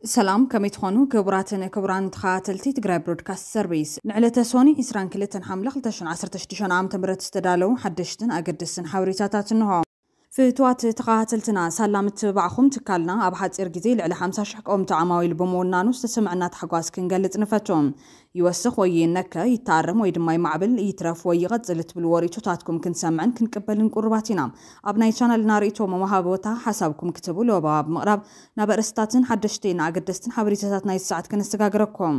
ሰላም፣ ከመይ ትኾኑ ክቡራትን ክቡራን ተኸታተልቲ ትግራይ ብሮድካስት ሰርቪስ? ንዕለተ ሶኒ ዕስራን ክልተን ሓምለ ክልተ ሽሕን ዓሰርተ ሽዱሽተን ዓመተ ምህረት ዝተዳለዉ ሓደሽትን ኣገደስትን ሓበሬታታት እንሆ። ፍትዋት ተኸታተልትና፣ ሳላ ምትብባዕኹም ትካልና ኣብ ሓፂር ግዜ ልዕሊ ሓምሳ ሽሕ ቀወምቲ ዓማዊል ብምውናኑ ዝተሰምዐና ታሕጓስ ክንገልፅ ንፈቱ። ይወስኽ ወይ ይነከ፣ ይተኣረም ወይ ድማ ይማዕብል፣ ይትረፍ ወይ ይቐፅል እትብልዎ ርእይቶታትኩም ክንሰምዕን ክንቅበልን ቅሩባት ኢና። ኣብ ናይ ቻናልና ርእይቶ መወሃቢ ቦታ ሓሳብኩም ክትህቡ ለበዋ ብምቕራብ ናብ ኣርእስታትን ሓደሽቲ ንኣገደስትን ሓበሬታታት ናይ ሰዓት ከነሰጋግረኩም።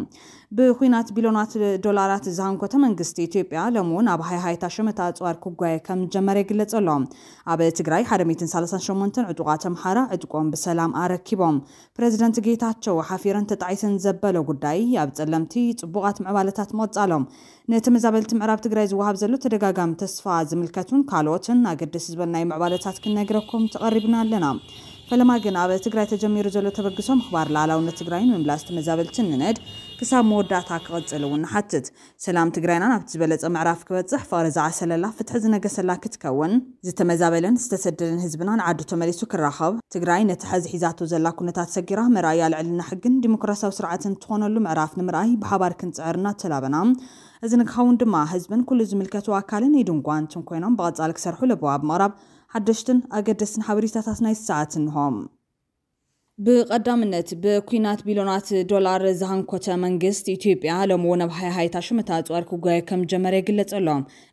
ብኹናት ቢሎናት ዶላራት ዝሃንኮተ መንግስቲ ኢትዮጵያ ሎሚ እውን ኣብ ሃይሃይታ ሸመታ ኣፅዋር ክጓየ ከም ዝጀመረ ይግለጽ ኣሎ። ኣብ ትግራይ ሓደ ሚእትን ሰላሳን ሸሞንተን ዕጡቓት ኣምሓራ ዕጥቆም ብሰላም ኣረኪቦም። ፕረዚደንት ጌታቸው ሓፊረን ተጣዒሰን ዘበሎ ጉዳይ ኣብ ጸለምቲ ጽቡቓት ምዕባለታት ምቕጻሎም። ንተመዛበልቲ ምዕራብ ትግራይ ዝወሃብ ዘሎ ተደጋጋሚ ተስፋ ዝምልከቱን ካልኦትን ኣገደስቲ ዝበልናዮ ምዕባለታት ክንነግረኩም ተቐሪብና ኣለና። ፈለማ ግን ኣብ ትግራይ ተጀሚሩ ዘሎ ተበግሶ ምኽባር ሉዓላውነት ትግራይን ምምላስ ተመዛበልትን ንነድ ክሳብ መወዳእታ ክቕጽል እውን ንሓትት። ሰላም ትግራይና ናብቲ ዝበለጸ ምዕራፍ ክበጽሕ፣ ፍቕሪ ዝዓሰለላ፣ ፍትሒ ዝነገሰላ ክትከውን፣ ዝተመዛበለን ዝተሰደደን ህዝብና ንዓዱ ተመሊሱ ክራኸብ፣ ትግራይ ነቲ ሐዚ ሒዛቶ ዘላ ኩነታት ሰጊራ መርኣያ ልዕልና ሕግን ዲሞክራሲያዊ ስርዓትን ትኾነሉ ምዕራፍ ንምርኣይ ብሓባር ክንጽዕር እናተላበና፣ እዚ ንክኸውን ድማ ህዝብን ኩሉ ዝምልከቱ ኣካልን ኢድን ጓንትን ኮይኖም ብቐጻሊ ክሰርሑ ለበዋ ብምቕራብ ሓደሽትን ኣገደስትን ሓበሬታታት ናይ ሰዓት እንሆ። ብቐዳምነት፣ ብኲናት ቢሎናት ዶላር ዝሃንኮተ መንግስት ኢትዮጵያ ሎሚ እውን ኣብ ሃይሃይታ ሸመታ ኣፅዋር ክጓየ ከም ጀመረ ይግለጽ ኣሎ።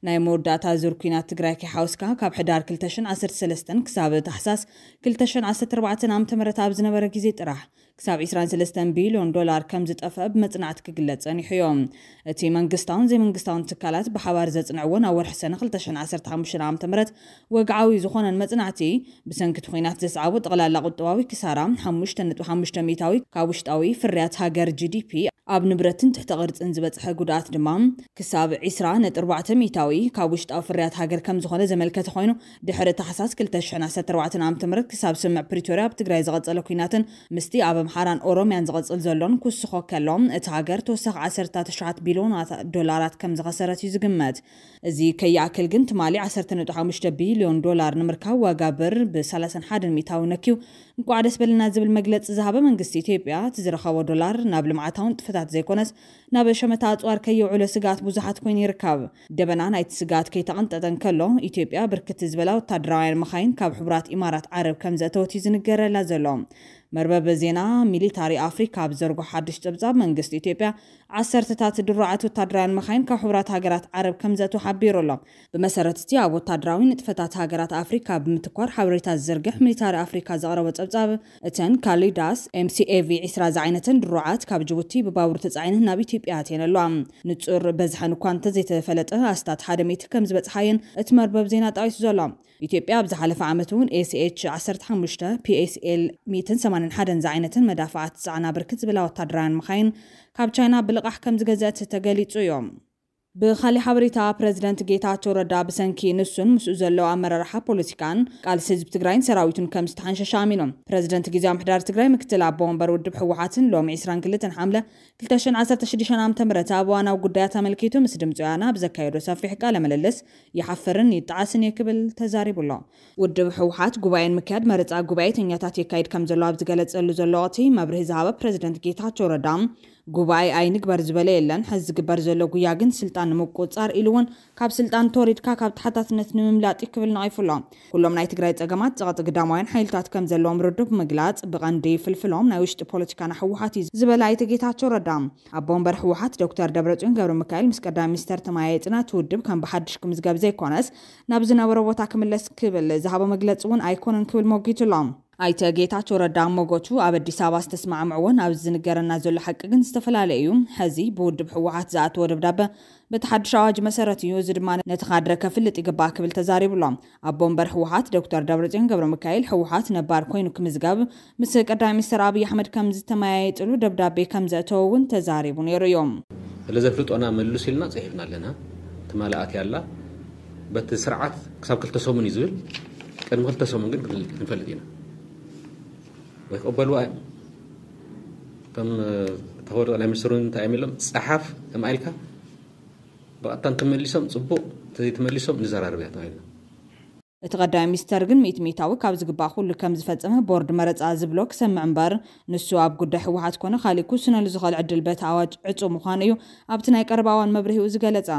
ናይ መወዳእታ ዙር ኲናት ትግራይ ከይሓወስካ ካብ ሕዳር ክልተ ሽሕን ዓሰርተ ሰለስተን ክሳብ ታሕሳስ ክልተ ሽሕን ዓሰርተ ኣርባዕተን ዓመተ ምህረት ኣብ ዝነበረ ግዜ ጥራሕ ክሳብ ዕስራን ሰለስተን ቢልዮን ዶላር ከም ዝጠፍአ ብመጽናዕቲ ክግለጽ ጸኒሑ እዩ። እቲ መንግስታውን ዘይመንግስታውን ትካላት ብሓባር ዘጽንዕዎን ኣብ ወርሒ ሰነ ክልተ ሽሕን ዓሰርተ ሓሙሽተን ዓመተ ምህረት ወግዓዊ ዝኾነን መጽናዕቲ፣ ብሰንኪ እቲ ኲናት ዘስዓቦ ጠቕላላ ቁጠባዊ ክሳራ ሓሙሽተ ነጥቢ ሓሙሽተ ሚእታዊ ካብ ውሽጣዊ ፍርያት ሃገር፣ ጂ ዲ ፒ፣ ኣብ ንብረትን ትሕተ ቅርጽን ዝበጽሐ ጉድኣት ድማ ክሳብ ዕስራ ነጥቢ ኣርባዕተ ሚእታዊ ካብ ውሽጣዊ ፍርያት ሃገር ከም ዝኾነ ዘመልከተ ኮይኑ፣ ድሕሪ ታሕሳስ ክልተ ሽሕን ዓሰርተ ኣርባዕተን ዓመተ ምህረት ክሳብ ስምምዕ ፕሪቶርያ ኣብ ትግራይ ዝቐጸለ ኲናትን ምስቲ ኣብ ኣምሓራን ኦሮምያን ዝቐጽል ዘሎን ክውስኾ ከሎ፣ እቲ ሃገር ተወሳኺ ዓሰርተ ትሽዓተ ቢልዮናት ዶላራት ከም ዝኸሰረት እዩ ዝግመት። እዚ ከይኣክል ግን ትማሊ ዓሰርተ ነጥቢ ሓሙሽተ ቢልዮን ዶላር ንምርካብ ዋጋ ብር ብ ሰላሳን ሓደን ሚእታዊ ነክዩ፣ እንቋዕ ደስ በለና ዝብል መግለጺ ዝሃበ መንግስቲ ኢትዮጵያ፣ እቲ ዝረኸቦ ዶላር ናብ ልምዓታዊ ንጥፈታት ዘይኮነስ ናብ ሸመታ ኣጽዋር ከየውዕሎ ስግኣት ብዙሓት ኮይኑ ይርከብ። ደበና ናይቲ ስግኣት ከይተቐንጠጠ እንከሎ፣ ኢትዮጵያ ብርክት ዝበላ ወታደራውያን መኻይን ካብ ሕቡራት ኢማራት ዓረብ ከም ዘእተወት እዩ ዝንገረላ ዘሎ። መርበብ ዜና ሚሊታሪ ኣፍሪካ ኣብ ዘርጎ ሓድሽ ጸብጻብ፣ መንግስቲ ኢትዮጵያ ዓሰርተታት ድሩዓት ወታደራውያን መኻይን ካብ ሕቡራት ሃገራት ዓረብ ከም ዘእተወ ሓቢሩ ኣሎ። ብመሰረት እቲ ኣብ ወታደራዊ ንጥፈታት ሃገራት ኣፍሪካ ብምትኳር ሓበሬታ ዝዝርግሕ ሚሊታሪ ኣፍሪካ ዘቕረቦ ጸብጻብ፣ እተን ካሊዳስ ኤም ሲ ኤ ቪ ዕስራ ዝዓይነተን ድሩዓት ካብ ጅቡቲ ብባቡር ተጻዒነን ናብ ኢትዮጵያ ኣትየን ኣለዋ። ንጹር በዝሐን እኳ እንተዘይተፈለጠ፣ ኣስታት ሓደ ሚእቲ ከም ዝበጽሓየን እቲ መርበብ ዜና ጠቒሱ ዘሎ። ኢትዮጵያ ኣብ ዝሓለፈ ዓመት እውን ኤስ ኤች ዓሰርተ ሓሙሽተ፣ ፒ ኤስ ኤል ሚእትን ሰማንያን ሓደን ዝዓይነተን መዳፍዓት ዝጸዓና ብርክት ዝበላ ወታደራውያን መኻይን ካብ ቻይና ብልቓሕ ከም ዝገዘአት ተገሊጹ እዩ። ብኻሊእ ሓበሬታ፣ ፕረዚደንት ጌታቸው ረዳ ብሰንኪ ንሱን ምስኡ ዘለዉ ኣመራርሓ ፖለቲካን ቃልሲ ህዝቢ ትግራይን ሰራዊቱን ከም ዝተሓንሸሸ ኣሚኑ። ፕረዚደንት ግዜያዊ ምምሕዳር ትግራይ ምክትል ኣቦ ወንበር ውድብ ህወሓትን ሎሚ ዕስራን ክልተን ሓምለ ክልተ ሽሕን ዓሰርተ ሽዱሽተን ዓመተ ምህረት ኣብ እዋናዊ ጉዳያት ኣመልኪቱ ምስ ድምፂ ወያነ ኣብ ዘካየዶ ሰፊሕ ቃለ ምልልስ፣ "ይሓፍርን ይጠዓስን እየ" ክብል ተዛሪቡ ኣሎ። ውድብ ህወሓት ጉባኤ ንምክያድ መረፃ ጉባኤተኛታት የካይድ ከም ዘሎ ኣብ ዝገለፀሉ ዘሎ ወቕቲ፣ መብርሂ ዝሃበ ፕረዚደንት ጌታቸው ረዳ፣ ጉባኤ ኣይንግበር ዝበለ የለን። ሕዚ ዝግበር ዘሎ ጉያ ግን ስልጣን ንምቁፅፃር ኢሉ እውን ካብ ስልጣን ተወሪድካ ካብ ተሓታትነት ንምምላጥ እዩ ክብል ነቒፉ ኣሎ። ኩሎም ናይ ትግራይ ፀገማት ፀቕጢ ግዳማውያን ሓይልታት ከም ዘለዎም ርዱእ ብምግላፅ፣ ብቐንዲ ፍልፍሎም ናይ ውሽጢ ፖለቲካና ህወሓት እዩ ዝበለ ኣይተ ጌታቸው ረዳ፣ ኣቦ ወንበር ህወሓት ዶክተር ደብረፅዮን ገብረ ሚካኤል ምስ ቀዳማይ ሚኒስተር ተመያይጥና እቲ ውድብ ከም ብሓድሽ ክምዝገብ ዘይኮነስ ናብ ዝነበሮ ቦታ ክምለስ ክብል ዝሃቦ መግለፂ እውን ኣይኮነን ክብል ሞጊቱ ኣሎ። ኣይተ ጌታቸው ረዳ ኣብ ሞጎቱ፣ ኣብ ኣዲስ ኣበባ ዝተስማዕምዕዎን ኣብዚ ዝንገረና ዘሎ ሓቂ ግን ዝተፈላለየ እዩ። ሕዚ ብውድብ ህወሓት ዝኣተወ ደብዳበ በቲ ሓድሽ ኣዋጅ መሰረት እዩ። እዚ ድማ ነቲ ካድረ ከፍልጥ ይግባእ ክብል ተዛሪቡ ኣሎ። ኣቦ ወንበር ህወሓት ዶክተር ደብረፅዮን ገብረ ሚካኤል፣ ህወሓት ነባር ኮይኑ ክምዝገብ ምስ ቀዳማይ ሚኒስትር ኣብይ ኣሕመድ ከም ዝተመያየጥሉ ደብዳቤ ከም ዘእተወ እውን ተዛሪቡ ነይሩ እዩ። ስለ ዘፍልጦና መልሱ ኢልና ጽሒፍና ኣለና። ትማሊ ኣትያ ኣላ። በቲ ስርዓት ክሳብ ክልተ ሰሙን እዩ ዝብል። ቅድሚ ክልተ ሰሙን ግን ክንፈልጥ ኢና። ወይ ክቕበልዋ እዮም። እቶም፣ እ፣ ተኸበሩ ጠቅላይ ሚኒስትር እውን እንታይ እዮም ኢሎም? ጸሓፍ፣ እማ ኢልካ ብቐጥታ እንተመሊሶም ጽቡቕ፣ እንተዘይተመሊሶም ንዘራረብ እያ ተባሂልና። እቲ ቀዳማይ ሚኒስተር ግን ሚእቲ ሚእታዊ ካብ ዝግባእ ኩሉ ከም ዝፈጸመ ቦርድ መረጻ ዝብሎ ክሰምዕ እምበር፣ ንሱ ኣብ ጉዳይ ህወሓት ኮነ ካሊእ ክውስነሉ ዝኽእል ዕድል በቲ ኣዋጅ ዕጹው ምዃኑ እዩ ኣብቲ ናይ ቀረባ እዋን መብርሂኡ ዝገለጸ።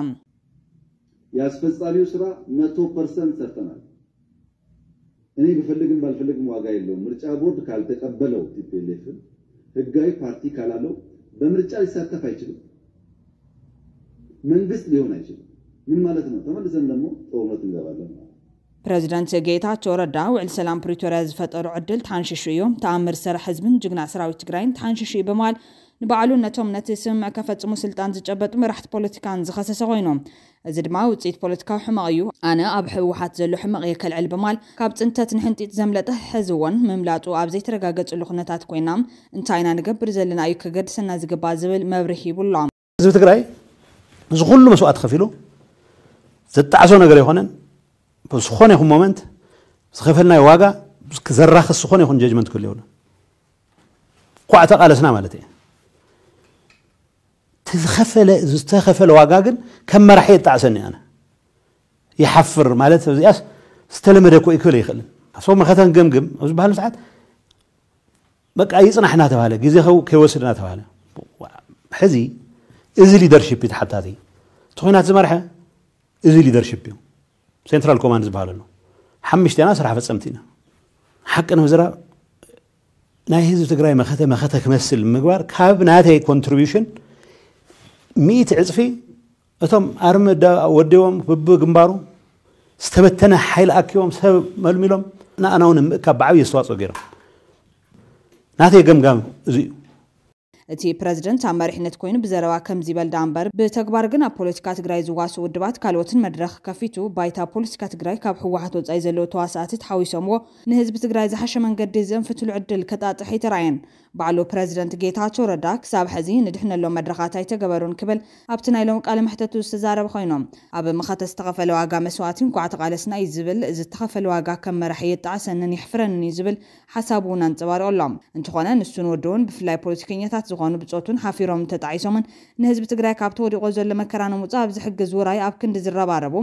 የአስፈጻሚው ስራ መቶ ፐርሰንት ሰርተናል። እኔ ብፈልግም ባልፈልግም ዋጋ የለውም። ምርጫ ቦርድ ካልተቀበለው ቲፒኤልኤፍን ህጋዊ ፓርቲ ካላለው በምርጫ ሊሳተፍ አይችልም። መንግስት ሊሆን አይችልም። ምን ማለት ነው? ተመልሰን ደግሞ ጦርነት እንገባለን ማለት ነው። ፕረዚደንት ጌታቸው ረዳ ውዕል ሰላም ፕሪቶርያ ዝፈጠሮ ዕድል ተሓንሺሹ እዩ፣ ተኣምር ሰራሕ ህዝብን ጅግና ሰራዊት ትግራይን ተሓንሺሹ እዩ ብምባል ንባዕሉን ነቶም ነቲ ስምምዕ ከፈፅሙ ስልጣን ዝጨበጡ መራሕቲ ፖለቲካን ዝኸሰሰ ኮይኑ፣ እዚ ድማ ውፅኢት ፖለቲካዊ ሕመቕ እዩ። ኣነ ኣብ ህወሓት ዘሎ ሕመቕ እየ ከልዕል ብምባል ካብ ፅንተት ንሕንጢጥ ዘምለጠ ሕዚ እውን ምምላጡ ኣብ ዘይተረጋገፅሉ ኩነታት ኮይና እንታይ ኢና ንገብር ዘለና እዩ ከገድሰና ዝግባእ ዝብል መብርሂ ሂቡ ኣሎ። ህዝቢ ትግራይ እዚ ኩሉ መስዋእቲ ከፊሉ ዘጣዕሶ ነገር ኣይኮነን። ብዝኾነ ይኹን ሞመንት ዝኸፈልናዮ ዋጋ ዘራኽስ ዝኾነ ይኹን ጀጅመንት ክህሉ የብሉን። ኳዕ ተቓለስና ማለት እየ። ዝኸፈለ ዝተኸፈለ ዋጋ ግን ከም መራሒ የጣዕሰኒ ኣነ ይሓፍር ማለት እዚኣስ ዝተለመደ እኮ እዩ ክብል ይኽእልን ኣሰብ መኸተን ገምግም ኣብ ዝበሃሉ ሰዓት በቃ ይፅናሕ እናተባሃለ ግዜ ከይወስድ እናተባሃለ ሕዚ እዚ ሊደርሽፕ እዩ ተሓታቲ እቲ ኩናት ዝመርሐ እዚ ሊደርሽፕ እዩ ሴንትራል ኮማንድ ዝበሃል ኣሎ ሓምሽተና ስራሕ ፈፀምቲ ኢና ሓቂ ንምዝራብ ናይ ህዝቢ ትግራይ መኸተ መኸተ ክመስል ምግባር ካብ ናተይ ኮንትሪቢሽን ሚእቲ ዕፅፊ እቶም ኣርሚ ወዲቦም ብብግንባሩ ዝተበተነ ሓይሊ ኣኪቦም ሰብ መልሚሎም ንኣና እውን ምእካብ ብዓብዪ ኣስተዋፅኦ ገይሮም ናተይ ገምጋም እዚ እዩ። እቲ ፕረዚደንት ኣብ መሪሕነት ኮይኑ ብዘረባ ከምዚ ይበል ደኣ እምበር ብተግባር ግን ኣብ ፖለቲካ ትግራይ ዝዋስኡ ውድባት ካልኦትን መድረኽ ከፊቱ ባይታ ፖለቲካ ትግራይ ካብ ህወሓት ወፃኢ ዘለዉ ተዋሳእቲ ተሓዊሶምዎ ንህዝቢ ትግራይ ዝሓሸ መንገዲ ዘንፍትሉ ዕድል ከጣጥሕ ኣይተራእየን። ባዕሉ ፕረዚደንት ጌታቸው ረዳ ክሳብ ሕዚ ንድሕነሎም መድረኻት ኣይተገበሩን ክብል ኣብቲ ናይ ሎሚ ቃለ መሕተቱ ዝተዛረበ ኮይኑ፣ ኣብ መኸተ ዝተኸፈለ ዋጋ መስዋእቲ እንኳዕ ተቓለስና እዩ ዝብል፣ ዝተኸፈለ ዋጋ ከም መራሒ የጣዕሰንን የሕፍረንን እዩ ዝብል ሓሳቡ እውን ኣንፀባሪቑ ኣሎ። እንተኾነ ንሱን ወድኡን ብፍላይ ፖለቲከኛታት ዝኾኑ ብፆቱን ሓፊሮምን ተጣዒሶምን ንህዝቢ ትግራይ ካብቲ ወዲቖ ዘሎ መከራ ንምውፃእ ኣብ ዝሕግዝ ውራይ ኣብ ክንዲ ዝረባረቡ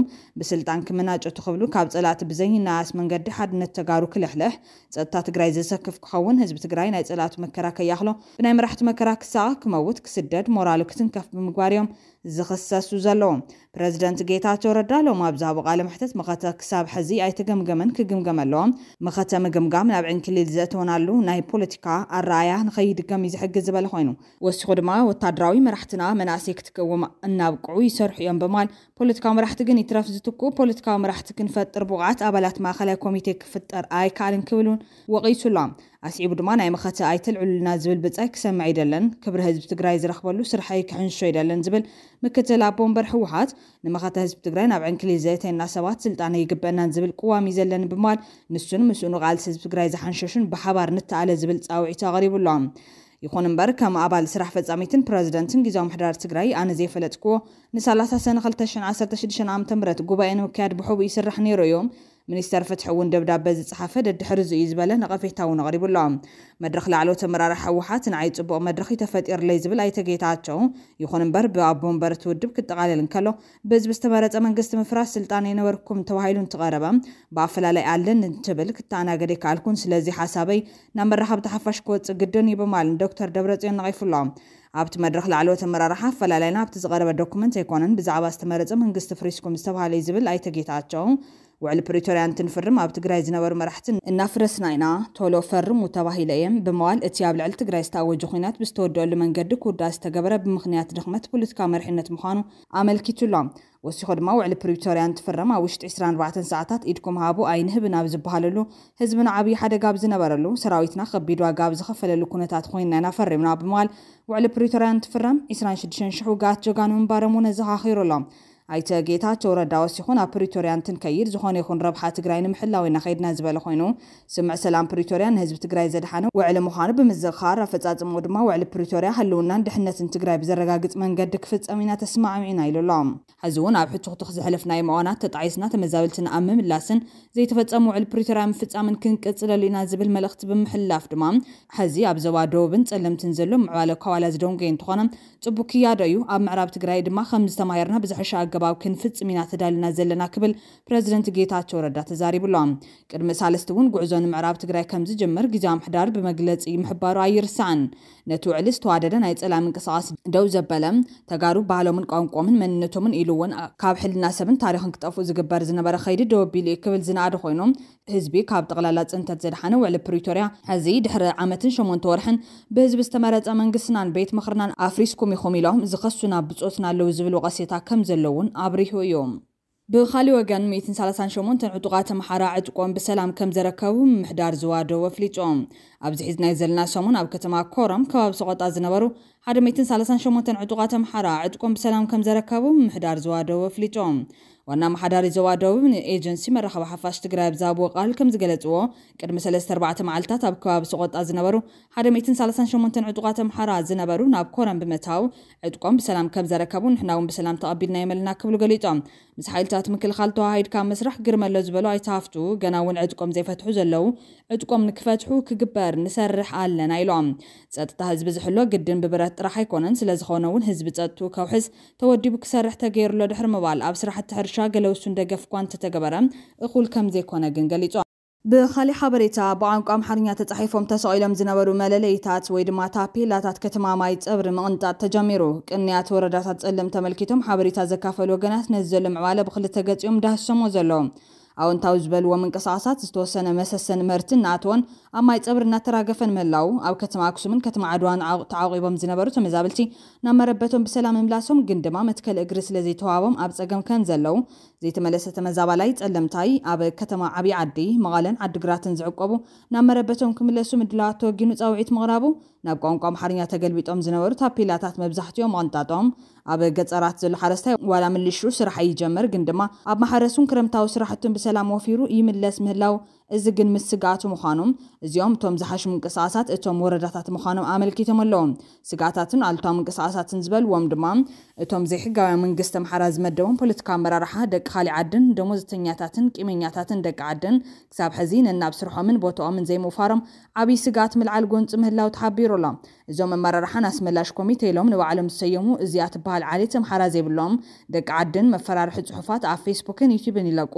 ብስልጣን ክመናጨቱ ክብሉ ካብ ፀላእቲ ብዘይናኣስ መንገዲ ሓድነት ተጋሩ ክልሕልሕ፣ ፀጥታ ትግራይ ዘሰክፍ ክኸውን፣ ህዝቢ ትግራይ ናይ ፀላእቱ መከራ ከይኣኽሎ ብናይ መራሕቱ መከራ ክሳቐ፣ ክመውት፣ ክስደድ፣ ሞራሉ ክትንከፍ ብምግባር እዮም ዝኽሰሱ ዘለዉ። ፕረዚደንት ጌታቸው ረዳ ሎሚ ኣብ ዝሃቦ ቃለ መሕተት መኸተ ክሳብ ሕዚ ኣይተገምገመን ክግምገም ኣለዎ። መኸተ ምግምጋም ናብ ዕንክሊል ዘእተወናሉ ናይ ፖለቲካ ኣረኣእያ ንኸይድገም እዩ ዝሕግዝ ዝበለ ኮይኑ፣ ወሲኹ ድማ ወታደራዊ መራሕትና መናእሰይ ክትክዎም እናብቅዑ ይሰርሑ እዮም ብምባል ፖለቲካዊ መራሕቲ ግን ይትረፍ ዝትክኡ ፖለቲካዊ መራሕቲ ክንፈጥር ብቑዓት ኣባላት ማእኸላይ ኮሚቴ ክፍጠር ኣይከኣልን ክብል እውን ወቒሱ ኣሎ። ኣስዒቡ ድማ ናይ መኸተ ኣይተልዕሉልና ዝብል ብጻይ ክሰምዕ ኣይደለን፣ ክብሪ ህዝቢ ትግራይ ዝረኽበሉ ስርሐይ ክሕንሾ ኣይደለን ዝብል ምክትል ኣቦ ወንበር ህወሓት ንመኸተ ህዝቢ ትግራይ ናብ ዕንክሊል ዘእተየና ሰባት ስልጣን ኣይግበአናን ዝብል ቅዋም እዩ ዘለኒ ብምባል ንሱን ምስኡን ቃልሲ ህዝቢ ትግራይ ዝሓንሸሹን ብሓባር ንተኣለ ዝብል ፃውዒት ኣቕሪቡ ኣሎ። ይኹን እምበር ከም ኣባል ስራሕ ፈፃሚትን ፕረዚደንትን ግዝያዊ ምሕዳር ትግራይ ኣነ ዘይፈለጥክዎ ንሳላሳ ሰነ ክልተ ሽሕን ዓሰርተ ሽዱሽተን ዓመተ ምህረት ጉባኤ ንምክያድ ብሕቡእ ይስራሕ ነይሩ እዩ። ሚኒስተር ፍትሒ እውን ደብዳበ ዝፀሓፈ ደድሕሪ እዚ እዩ ዝበለ ነቐፌታ እውን ኣቕሪቡ ኣሎ። መድረኽ ላዕለዎት ኣመራርሓ ህወሓት ንዓይ ፅቡቕ መድረኽ እዩ ተፈጢርለይ ዝብል ኣይተ ጌታቸው፣ ይኹን እምበር ብኣቦ ወንበር እቲ ውድብ ክጠቓለል እንከሎ ብህዝቢ ዝተመረፀ መንግስቲ ምፍራስ ስልጣን ኣይነበርኩም ተባሂሉ እንትቐረበ ብኣፈላላይ ኣለን እንትብል ክተኣናገድ ኣይከኣልኩን፣ ስለዚ ሓሳበይ ናብ መራኸብቲ ሓፋሽ ክወፅእ ግድን እዩ ብምባል ንዶክተር ደብረፅዮን ነቒፉ ኣሎ። ኣብቲ መድረኽ ላዕለዎት ኣመራርሓ ኣፈላላይና ኣብቲ ዝቐረበ ዶኩመንት ኣይኮነን፣ ብዛዕባ ዝተመረፀ መንግስቲ ፍሪስኩም ዝተባህለ እዩ ዝብል ኣይተ ጌታቸው፣ ውዕሊ ፕሪቶርያ እንትንፍርም ኣብ ትግራይ ዝነበሩ መራሕቲ እናፍረስና ኢና፣ ቶሎ ፈርሙ ተባሂለ እየ ብምባል እቲ ኣብ ልዕሊ ትግራይ ዝተኣወጀ ኹናት ብዝተወደአሉ መንገዲ ክውዳእ ዝተገበረ ብምኽንያት ድኽመት ፖለቲካዊ መሪሕነት ምዃኑ ኣመልኪቱ ኣሎ። ወሲኹ ድማ ውዕሊ ፕሪቶርያ እንትፍረም ኣብ ውሽጢ ዕስራን ኣርባዕተን ሰዓታት ኢድኩም ሃቡ ኣይንህብን ኣብ ዝበሃለሉ፣ ህዝብና ዓብዪ ሓደጋ ኣብ ዝነበረሉ፣ ሰራዊትና ከቢድ ዋጋ ኣብ ዝኸፈለሉ ኩነታት ኮይንና ኢና ፈሪምና ብምባል ውዕሊ ፕሪቶርያ እንትፍረም ዕስራን ሽዱሽተን ሽሕ ውግኣት ጀጋኑ ምንባሮም እውን ኣዘኻኺሩ ኣሎ። ኣይተ ጌታቸው ረዳ ወሲኹ ናብ ፕሪቶርያ እንትንከይድ ዝኾነ ይኹን ረብሓ ትግራይ ንምሕላው ኢና ከይድና ዝበለ ኮይኑ፣ ስምምዕ ሰላም ፕሪቶርያ ንህዝቢ ትግራይ ዘድሓነ ውዕሊ ምዃኑ ብምዝኽኻር፣ ኣፈፃፅምኡ ድማ ውዕሊ ፕሪቶርያ ህልውናን ድሕነትን ትግራይ ብዘረጋግፅ መንገዲ ክፍፀም ኢና ተስማዕሚዕና ኢሉ ኣሎ። ሕዚ እውን ኣብ ሕቱኽቱኽ ዘሕለፍናዮም እዋናት ተጣዒስና ተመዛበልትና ኣብ ምምላስን ዘይተፈፀሙ ውዕል ፕሪቶርያ ምፍፃምን ክንቅፅለሉ ኢና ዝብል መልእኽቲ ብምሕላፍ ድማ፣ ሕዚ ኣብ ዞባ ደቡብን ፀለምትን ዘሎ ምዕባለ ካብ ዋላ ዝደንጎየ እንተኾነ፣ ፅቡቅ ክያዶ እዩ። ኣብ ምዕራብ ትግራይ ድማ ከም ዝተማሂርና ብዝሐሸ ኣገባብ ክንፍጽም ኢና ተዳልና ዘለና ክብል ፕረዚደንት ጌታቸው ረዳ ተዛሪቡ ኣሎ። ቅድሚ ሳልስቲ እውን ጉዕዞ ንምዕራብ ትግራይ ከም ዝጅምር ግዜ ምሕዳር ብመግለጺ ምሕባሩ ኣይርሳዕን። ነቲ ውዕሊ ዝተዋደደ ናይ ጸላም ምንቅስቃስ ደው ዘበለ፣ ተጋሩ ባህሎምን ቋንቋምን መንነቶምን ኢሉ እውን ካብ ሕልና ሰብን ታሪኽን ክጠፍኡ ዝግበር ዝነበረ ከይዲ ደው ኣቢሉ እዩ ክብል ዝነኣደ ኮይኑ፣ ህዝቢ ካብ ጠቕላላ ጽንተት ዘድሓነ ውዕሊ ፕሪቶርያ፣ ሕዚ ድሕሪ ዓመትን ሸሞንተ ወርሕን ብህዝቢ ዝተመረጸ መንግስትናን ቤት ምኽርናን ኣፍሪስኩም ኢኹም ኢሎም ዝኸሱና ብጾትና ኣለዉ ዝብል ወቐሴታ ከም ዘለውን ኣብሪሁ እዩ። ብኻሊእ ወገን ሚእትን ሰላሳን ሸሞንተን ዕጡቓት ኣምሓራ ዕጥቆም ብሰላም ከም ዘረከቡ ምምሕዳር ዞባ ደቡብ ኣፍሊጡ። ኣብዚ ሒዝናዮ ዘለና ሰሙን ኣብ ከተማ ኮረም ከባቢ ሰቖጣ ዝነበሩ ሓደ ሚእትን ሰላሳን ሸሞንተን ዕጡቓት ኣምሓራ ዕጥቆም ብሰላም ከም ዘረከቡ ምምሕዳር ዞባ ደቡብ ኣፍሊጡ። ዋና ኣመሓዳሪ ዞባ ደቡብ ንኤጀንሲ መራኸቢ ሓፋሽ ትግራይ ኣብ ዝሃብዎ ቃል ከም ዝገለጽዎ፣ ቅድሚ ሰለስተ ኣርባዕተ መዓልታት ኣብ ከባቢ ሰቖጣ ዝነበሩ ሓደ ሚእትን ሰላሳን ሸሞንተን ዕጡቓት ኣምሓራ ዝነበሩ ናብ ኮረም ብምእታው ዕጥቆም ብሰላም ከም ዘረከቡ ንሕና እውን ብሰላም ተቐቢልና የመልና ክብሉ ገሊጾም። ምስ ሓይልታት ምክልኻል ተዋሃሂድካ ምስራሕ ግርም ኣሎ ዝበሉ ኣይተ ሃፍቱ፣ ገና እውን ዕጥቆም ዘይፈትሑ ዘለዉ ዕጥቆም ንክፈትሑ ክግበር ንሰርሕ ኣለና ኢሎም። ጸጥታ ህዝቢ ዝሕሎ ግድን ብብረት ጥራሕ ኣይኮነን፣ ስለዝኾነ እውን ህዝቢ ጸጥትኡ ከውሕስ ተወዲቡ ክሰርሕ ተገይሩ ኣሎ ድሕሪ ምባል፣ ኣብ ስራሕቲ ሕርሻ ገለ ውሱን ደገፍ እኳ እንተተገበረ እኹል ከም ዘይኮነ ግን ገሊጾም። ብኻሊእ ሓበሬታ፣ ብቋንቋ ኣምሓርኛ ተጻሒፎም ተሰቒሎም ዝነበሩ መለለይታት ወይ ድማ ታፔላታት ከተማ ማይ ጸብሪ ምቕንጣጥ ተጀሚሩ። ቅንያት ወረዳታት ጸለምቲ ኣመልኪቶም ሓበሬታ ዘካፈሉ ወገናት ነዚ ዘሎ ምዕባለ ብክልተ ገጺኦም ዳህሶሞ ዘለዉ። ኣወንታዊ ዝበልዎ ምንቅስቃሳት ዝተወሰነ መሰሰን ምህርቲ እናኣተወን ኣብ ማይ ጸብሪ እናተራገፈን ምህላው፣ ኣብ ከተማ ኣክሱምን ከተማ ዓድዋን ዓቑ-፣ ተዓቑቦም ዝነበሩ ተመዛበልቲ ናብ መረበቶም ብሰላም ምምላሶም ግን ድማ መትከል እግሪ ስለ ዘይተዋሃቦም ኣብ ጸገም ከም ዘለዉ ዘይተመለሰ ተመዛባላይ ጸለምታይ ኣብ ከተማ ዓብዪ ዓዲ፣ መቐለን ዓድግራትን ዝዕቆቡ ናብ መረበቶም ክምለሱ ምድላዋት ተወጊኑ ጻውዒት ምቕራቡ፣ ናብ ቋንቋ ኣምሓርኛ ተገልቢጦም ዝነበሩ ታፔላታት መብዛሕትኦም ምቕንጣጦም፣ ኣብ ገጸራት ዘሎ ሓረስታይ ዋላ ምልሹ ስራሕ ይጀምር፣ ግን ድማ ኣብ ማሕረሱን ክረምታዊ ስራሕቱን ብሰላም ወፊሩ ይምለስ ምህላው፣ እዚ ግን ምስ ስግኣቱ ምዃኑ፣ እዚኦም እቶም ዝሓሹ ምንቅስቃሳት እቶም ወረዳታት ምዃኖም ኣመልኪቶም ኣለዉ። ስግኣታትን ኣሉታዊ ምንቅስቃሳትን ዝበልዎም ድማ፣ እቶም ዘይሕጋውያን መንግስቲ ኣምሓራ ዝመደቦም ፖለቲካ ኣመራርሓ ደቂ ካሊእ ዓድን ደሞዝተኛታትን ቂመኛታትን ደቂ ዓድን ክሳብ ሕዚ ነናብ ስርሖምን ቦታኦምን ዘይምውፋሮም ዓብዪ ስግኣት ምልዓል ጎንፂ ምህላው ተሓቢሩ ኣሎ። እዞም ኣመራርሓን ኣስመላሽ ኮሚቴ ኢሎም ንባዕሎም ዝሰየሙ እዚኣ ትበሃል ዓሌት ኣምሓራ ዘይብሎም ደቂ ዓድን መፈራርሒ ፅሑፋት ኣብ ፌስቡክን ዩቲዩብን ይለቁ፣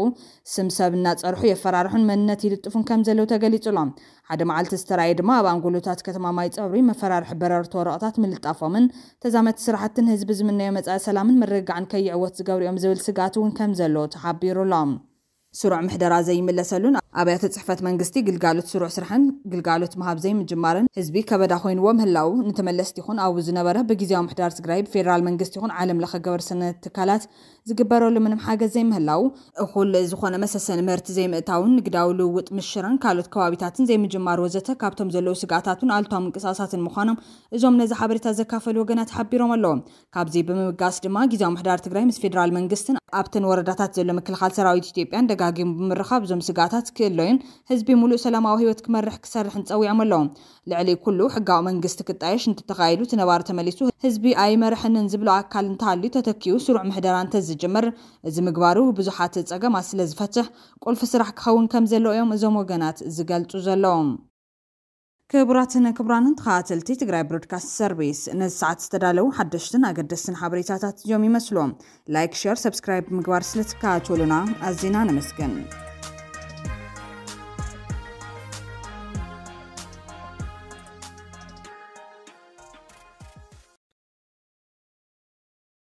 ስም ሰብ እናፀርሑ የፈራርሑን መንነት ይልጥፉን ከም ዘለዉ ተገሊፁ ኣሎ። ሓደ መዓልቲ ዝተራእየ ድማ ኣብ ኣንጎሎታት ከተማ ማይ ፀብሪ መፈራርሒ በረርቲ ወረቐታት ምልጣፎምን ተዛመድቲ ስራሕትን ህዝቢ ዝምነዮ መጻኢ ሰላምን ምርግጋዕን ከይዕወት ዝገብሩ እዮም ዝብል ስግኣት እውን ከም ዘሎ ተሓቢሩ ኣሎ። ስሩዕ ምሕደራ ዘይምለሰሉን ኣብያተ ጽሕፈት መንግስቲ ግልጋሎት ስሩዕ ስራሕን ግልጋሎት ምሃብ ዘይምጅማርን ህዝቢ ከበዳ ኮይንዎ ምህላው፣ ንተመለስቲ ይኹን ኣብኡ ዝነበረ ብግዜያዊ ምሕዳር ትግራይ ብፌደራል መንግስቲ ይኹን ዓለም ለኸ ገበርሰናይ ትካላት ዝግበረሉ ምንም ሓገዝ ዘይምህላው፣ እኹል ዝኾነ መሰሰኒ ምህርቲ ዘይምእታውን ንግዳዊ ልውውጥ ምስ ሽረን ካልኦት ከባቢታትን ዘይምጅማር ወዘተ ካብቶም ዘለዉ ስግኣታትን ኣሉታዊ ምንቅስቃሳትን ምዃኖም እዞም ነዚ ሓበሬታ ዘካፈሉ ወገናት ሓቢሮም ኣለዉ። ካብዚ ብምብጋስ ድማ ግዜያዊ ምሕዳር ትግራይ ምስ ፌደራል መንግስትን ኣብተን ወረዳታት ዘሎ ምክልኻል ሰራዊት ኢትዮጵያን ደጋጊሙ ብምርኻብ እዞም ስግኣታት ክእለዩን ህዝቢ ሙሉእ ሰላማዊ ህይወት ክመርሕ ክሰርሕን ጸዊዖም ኣለዉ። ልዕሊ ኩሉ ሕጋዊ መንግስቲ ክጣየሽ እንተተኻይዱ እቲ ነባሪ ተመሊሱ ህዝቢ ኣይመርሐንን ዝብሎ ኣካል እንተሃልዩ ተተኪኡ ስሩዕ ምሕደራ እንተዝጅምር እዚ ምግባሩ ብዙሓት ጸገማት ስለ ዝፈትሕ ቁልፊ ስራሕ ክኸውን ከም ዘለዎ እዮም እዞም ወገናት ዝገልጹ ዘለዉ። ክቡራትን ክቡራንን ተኸታተልቲ ትግራይ ብሮድካስት ሰርቪስ፣ ነዚ ሰዓት ዝተዳለዉ ሓደሽትን ኣገደስትን ሓበሬታታት እዮም ይመስሉ። ላይክ፣ ሸር፣ ሰብስክራይብ ብምግባር ስለ ትከታተሉና ኣዚና ነመስግን።